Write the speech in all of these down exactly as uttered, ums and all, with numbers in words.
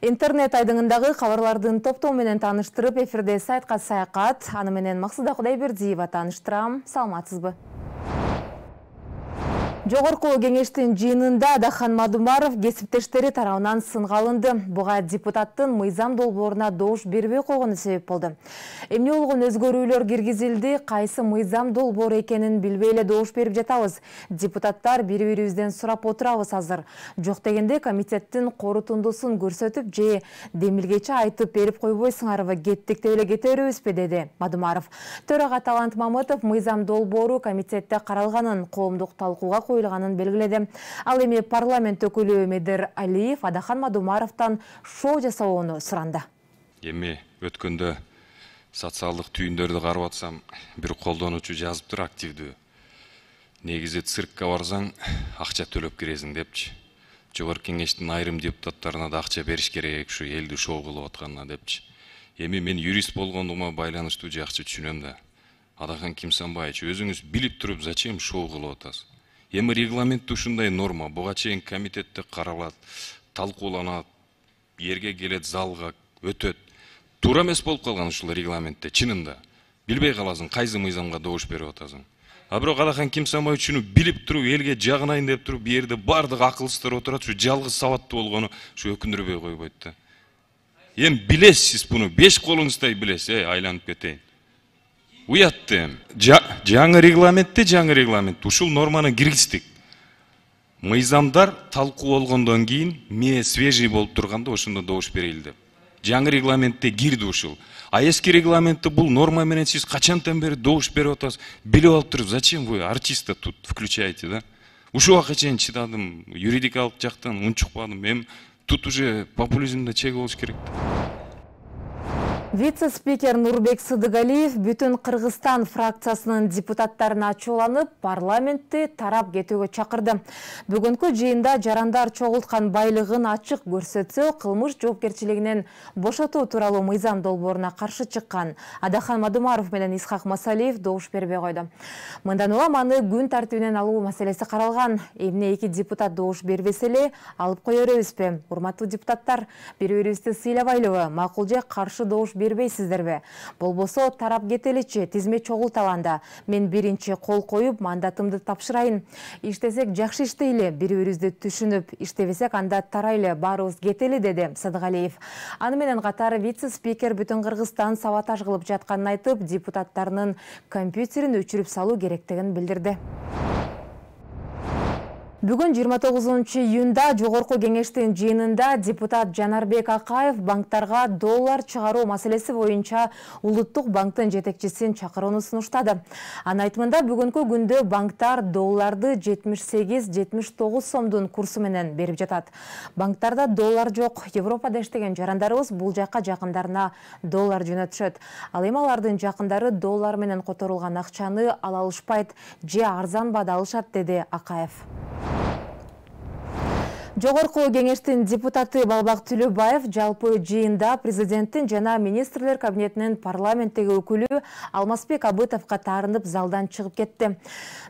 Интернет айдыңындагы кабарлардын топтоо менен тааныштырып, эфирде сайтка саякат. Аны менен Максуда Кудайбердиева тааныштырам. Саламатсызбы? Жогорку кеңештин жыйынында Адахан Мадумаров кесиптештери тарабынан сынга алынды. Буга депутаттын мыйзам долбооруна добуш бербей койгону себеп болду. Эмне болгон өзгөрүүлөр киргизилди, кайсы мыйзам долбоору экенин билбей эле добуш берип жатабыз. Депутаттар бири-бирибизден сурап отурабыз азыр. Жок дегенде комитеттин корутундусун көрсөтүп же демилгечи айтып берип койбойсуңарбы, кеттик деп эле кете беребизби, деди Мадумаров. Төрага Талант Мамытов мыйзам долбоору комитетте каралганын, коомдук талкууга коюлганын белгиледи. Ал эми парламент өкүлү Медер Алиев Адахан Мадумаровдон шоу жасоону суранды. Эми өткөндө социалдык түйүндөрдү карап атсам, бир колдонуучу жазыптыр активдүү. Негизи циркка барсаң, акча төлөп киресиң депчи. Жогорку кеңештин айрым депутаттарына да акча бериш керек, ушу элди шоу кылып атканына депчи. Эми мен юрист болгондугума байланыштуу жакшы түшүнөм да. Адахан Кимсанбаевич, өзүңүз билип туруп, зачем шоу кылып атасыз? Эми регламентте ушундай норма, буга чейин комитетте каралат, талкууланат, жерге келет, залга өтөт. Туура эмес болуп калган ушул регламентте, чынында. Билбей каласың, кайсы мыйзамга добуш берип атасың. А бирок Адахан Кимсанбаевич ушуну билип туруп, элге жагынайын деп туруп, бу жерде бардык акылсыздар отурат, ушу жалгыз сабаттуу болгону ушу өкүндүрбөй койбойт да. Эми билесиз буну, беш колуңуздай билесиз, эй, айланып кетейин. Уятты. Жаңы регламентте, жаңы регламент. Ушул норманы киргиздик. Мыйзамдар талкуу болгондон кийин, ме свежий болуп турганда ошондо добуш берели деп. Жаңы регламентте кирди ушул. А эски регламентте бул норма менен сиз качантан бери добуш берип атасыз? Билип алып туруп, зачем вы артиста тут включаете, да? Ушул убакка чейин чыдадым, юридикалык жактан унчукпадым. Эми тут уже популизмде чек болуш керек. Вице-спикер Нурбек Сыдыгалиев бүтүн Кыргызстан фракциясынын депутаттарына ачууланып, парламентти тарап кетүүгө чакырды. Бүгүнкү жыйында жарандар чогулткан байлыгын ачык көрсөтсө, кылмыш жоопкерчилигинен бошотуу тууралуу мыйзам долбооруна каршы чыккан Адахан Мадумаров менен Исхак Масалиев добуш бербей койду. Мындан улам аны күн тартибинен алуу маселеси каралган. Эмне эки депутат добуш бербесе эле алып кое беребизби? Урматтуу депутаттар, бири-бирибизди сыйлабайлыбы, макул же каршы добуш бербейсиздерби? Болбосо тарап кетеличи, тизме чогулталанда. Мен биринчи кол коюп, мандатымды тапшырайын. Иштесек жакшы иштейли, бири-бирибизди түшүнүп, иштебесек анда тарайлы, баарыбыз кетели, деди Сыдыгалиев. Аны менен катар вице-спикер бүтүн Кыргызстан саботаж кылып жатканын айтып, депутаттарынын компьютерин өчүрүп салуу керектигин билдирди. Бүгүн жыйырма тогузунчу июнда Жогорку кеңештин жыйынында депутат Жанарбек Акаев банктарга доллар чыгаруу маселеси боюнча Улуттук банктын жетекчисин чакырууну сунуштады. Анын айтымында бүгүнкү күндө банктар долларды жетимиш сегиз жетимиш тогуз сомдун курсу менен берип жатат. Банктарда доллар жок. Европада иштеген жарандарыбыз бул жакка жакындарына доллар жөнөтүшөт. Ал эми алардын жакындары доллар менен которулган акчаны ала алышпайт же арзан баада алышат, деди Акаев. Жогорку кеңештин депутаты Балбак Түлөбаев жалпы жыйында президенттин жана министрлер кабинетинин парламенттеги өкүлү Алмазбек Абытовго таарынып залдан чыгып кетти.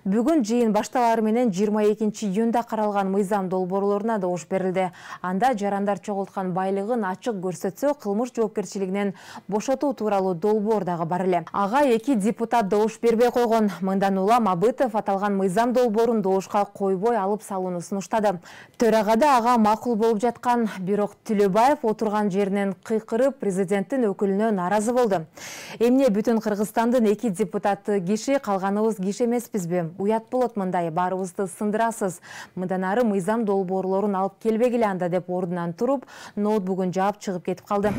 Бүгүн жыйын башталары менен жыйырма экинчи июнда каралган мыйзам долбоорлоруна добуш берилди. Анда жарандар чогулткан байлыгын ачык көрсөтсө, кылмыш жоопкерчилигинен бошотуу тууралуу долбоор дагы бар эле. Ага эки депутат добуш бербей койгон. Мындан улам Абытов аталган мыйзам долбоорун добушка койбой алып салууну сунуштады. Төрага ага макул болуп жаткан, бирок Түлөбаев отурган жеринен кыйкырып президенттин өкүлүнө нааразы болду. Эмне бүтүн Кыргызстандын эки депутаты киши, калганыбыз киши эмеспизби? Уят болот мындай, баарыбызды сындырасыз. Мындан ары мыйзам долбоорлорун алып келбегиле анда, деп ордунан туруп, ноутбугун жаап чыгып кетип калды.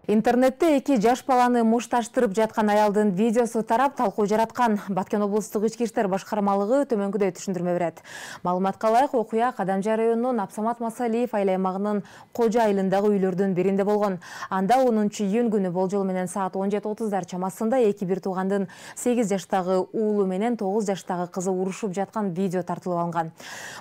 Интернетте эки жаш баланы мушташтырып жаткан аялдын видеосу тарап талкуу жараткан. Баткен облустук ички иштер башкармалыгы төмөнкүдөй түшүндүрмө берет. Маалыматка ылайык, окуя Кадамжай районунун Абсамат Масалиев айыл аймагынын Кожо айылындагы үйлөрдүн биринде болгон. Анда онунчу июнь күнү болжол менен саат он жети отуздар чамасында эки бир туугандын сегиз жаштагы уулу менен тогуз жаштагы кызы урушуп жаткан видео тартылып алынган.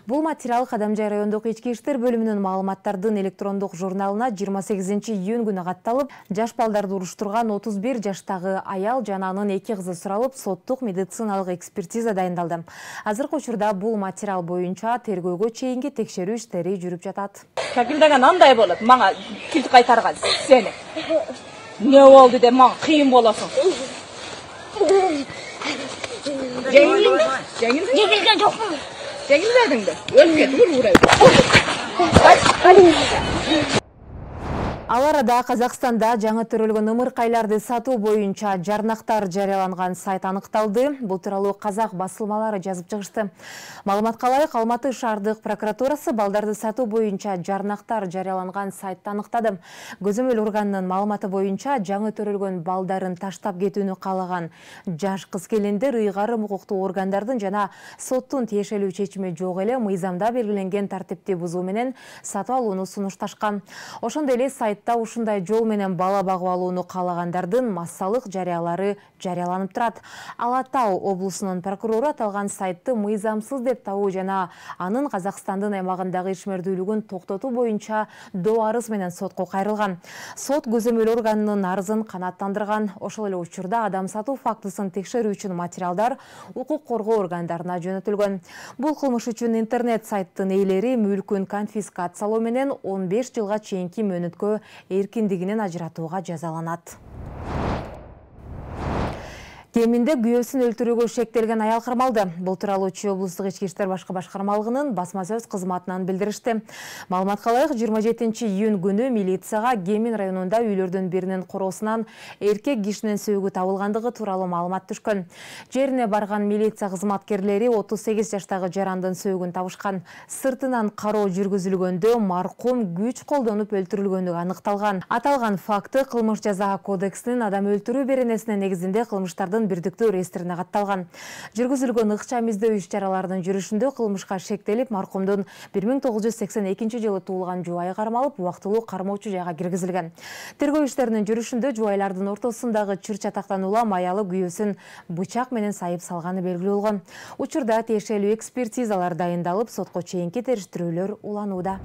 Бул материал Кадамжай райондук ички иштер бөлүмүнүн маалыматтардын электрондук журналына жыйырма сегизинчи июнь күнү катталып, Жаш балдарды уруштурган отуз бир жаштагы аял жана анын эки кызы суралып, соттук медициналык экспертиза дайындалды. Азыркы учурда бул материал боюнча тергөөгө чейинки текшерүү иштери жүрүп жатат. Кабилдеген андай болот, мага килт кайтарган сени. Не болду деп мага кыйын болосуң. Жеңилби? Жеңилби? Жеңилген жокмун. Жеңилбедиңби? Өлүп кетип уурайбы. Ал арада Казакстанда жаңы төрөлгөн ымыркайларды сатуу боюнча жарнактар жарыяланган сайт аныкталды. Бул тууралуу казак басылмалары жазып чыгышты. Маалыматка ылайык, Алматы шаардык прокуратурасы балдарды сатуу боюнча жарнактар жарыяланган сайтты аныктады. Көзөмөл органынын маалыматы боюнча жаңы төрөлгөн балдарын таштап кетүүнү каалаган жаш кыз-келиндер ыйгарым укуктуу органдардын жана соттун тиешелүү чечими жок эле мыйзамда белгиленген тартипти бузуу менен сатып алууну сунушташкан. Ошондой эле сайт Та ушундай жол менен бала багып алууну каалагандардын массалык жарыялары жарыяланып турат. Ала Тау облусунун прокурору аталган сайтты мыйзамсыз деп табуу жана анын Казакстандын аймагындагы ишмердүүлүгүн токтотуу боюнча доо арыз менен сотко кайрылган. Сот көзөмөл органынын арызын канааттандырган. Ошол эле учурда адам сатуу фактысын текшерүү үчүн материалдар укук коргоо органдарына жөнөтүлгөн. Бул кылмыш үчүн интернет сайттын ээлери мүлкүн конфискациялоо менен он беш жылга чейинки мөөнөткө эркиндигинен ажыратууга жазаланат. Кеминде күйөөсүн өлтүрүүгө шектелген аял кармалды. Бул тууралуу Чүй облустук ички иштер башкы башкармалыгынын басма сөз кызматынан билдиришти. Маалыматка ылайык, жыйырма жетинчи июнь күнү милицияга Кемин районунда үйлөрдүн биринин короосунан эркек кишинин сөөгү табылгандыгы тууралуу маалымат түшкөн. Жерине барган милиция кызматкерлери отуз сегиз жаштагы жарандын сөөгүн табышкан. Сыртынан кароо жүргүзүлгөндө маркум күч колдонуп өлтүрүлгөнүгү аныкталган. Аталган факты кылмыш жаза кодексинин адам өлтүрүү беренесине негизинде кылмыштардын бирдиктүү реестрине катталган. Жүргүзүлгөн ыкчам издөө иш-чараларынын жүрүшүндө кылмышка шектелип, маркумдун бир миң тогуз жүз сексен экинчи жылы туулган жубайы кармалып, убактылуу кармоочу жайга киргизилген. Тергөө иштеринин жүрүшүндө жубайлардын ортосундагы чыр-чатактан улам аялы күйөөсүн бычак менен сайып салганы белгилүү болгон. Учурда тиешелүү экспертизалар дайындалып, сотко чейинки териштирүүлөр уланууда.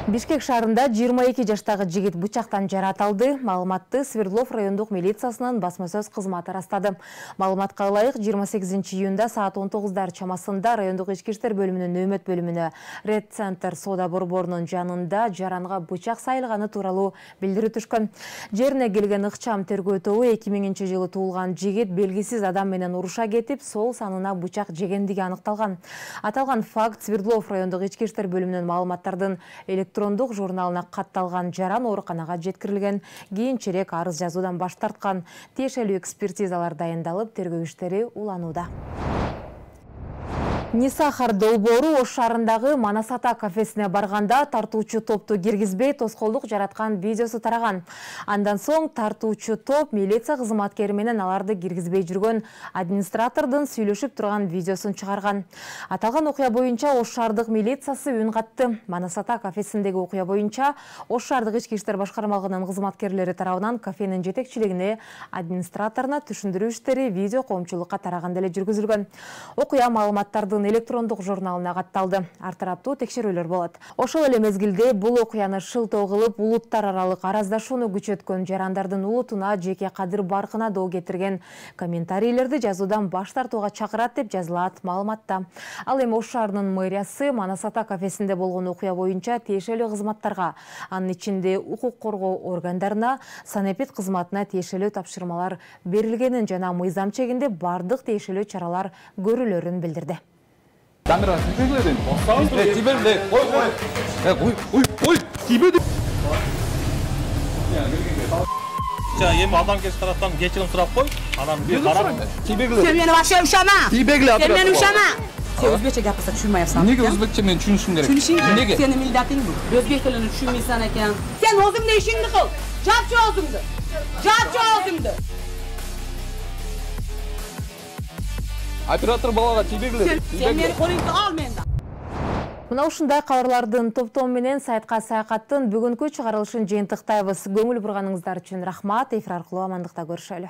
Бишкек шаарында жыйырма эки жаштагы жигит бычактан жаратылды. Маалыматты Свердлов райондук милициясынын басма сөз кызматы растады. Маалыматка ылайык, жыйырма сегизинчи июнда саат он тогуздар чамасында райондук ички иштер бөлүмүнүн нөөмөт бөлүмүнө Ред Центр соода борборунун жанында жаранга бычак сайылганы тууралуу билдирүү түшкөн. Жерине келген ыкчам тергөө тобу эки миңинчи жылы туулган жигит белгисиз адам менен уруша кетип, сол санына бычак жегендиги аныкталган. Аталган факт Свердлов райондук ички иштер бөлүмүнүн маалыматтардын электрондук журналына катталган жаран ооруканага жеткирилген. Кийинчерээк арыз жазуудан баш тарткан. Тиешелүү экспертизалар дайындалып, тергөө иштери уланууда. Нисахар долбоору Ош шаарындагы Манасата кафесине барганда тартуучу топту киргизбей тоскоолдук жараткан видеосу тараган. Андан соң тартуучу топ милиция кызматкери менен аларды киргизбей жүргөн администратордун сүйлөшүп турган видеосун чыгарган. Аталган окуя боюнча Ош шаардык милициясы үн катты. Манасата кафесиндеги окуя боюнча Ош шаардык ички иштер башкармалыгынын кызматкерлери тарабынан кафенин жетекчилигине, администраторуна түшүндүрүү иштери видео коомчулукка тараганда эле жүргүзүлгөн. Окуя маалыматтардын электрондук журналына катталды. Ар тараптуу текшерүүлөр болот. Ошол эле мезгилде бул окуяны шылтоо кылып, улуттар аралык араздашууну күчөткөн жарандардын улутуна, жеке кадыр баркына доо кетирген комментарийлерди жазуудан баш тартууга чакырат деп жазылат маалыматта. Ал эми Ош шаарынын мэриясы Манасата кафесинде болгон окуя боюнча тиешелүү кызматтарга, анын ичинде укук коргоо органдарына, санэпид кызматына тиешелүү тапшырмалар берилгенин жана мыйзам чегинде бардык тиешелүү чаралар көрүлөрүн билдирди. Камера тибеледин. Э, тибелде. Ой, ой. Э, ой, ой, ой, тибеди. Ya yem adam kes taraftan geçirim taraf koy. Adam bir karar. Тибегле. Sen beni başa uşama. Тибегле Sen beni атырат. uşama. Sen özbekçe gapırsa düşünmeyapsan. Неге өзбекче мен түшүнүшүм керек? Düşünüşün Неге? Senin milletin bu. Özbek dilini düşünmeysen eken. Sen özümde işini kıl. Capçı özümdü. Capçı özümdü. Оператор балага тибегле. Sen beni koruyup al menden. Мына ушундай кабарлардын топтому менен сайтка саякаттын бүгүнкү чыгарылышын жыйынтыктайбыз. Көңүл бурганыңыздар үчүн рахмат. Эфир аркылуу амандыкта көрүшөлү.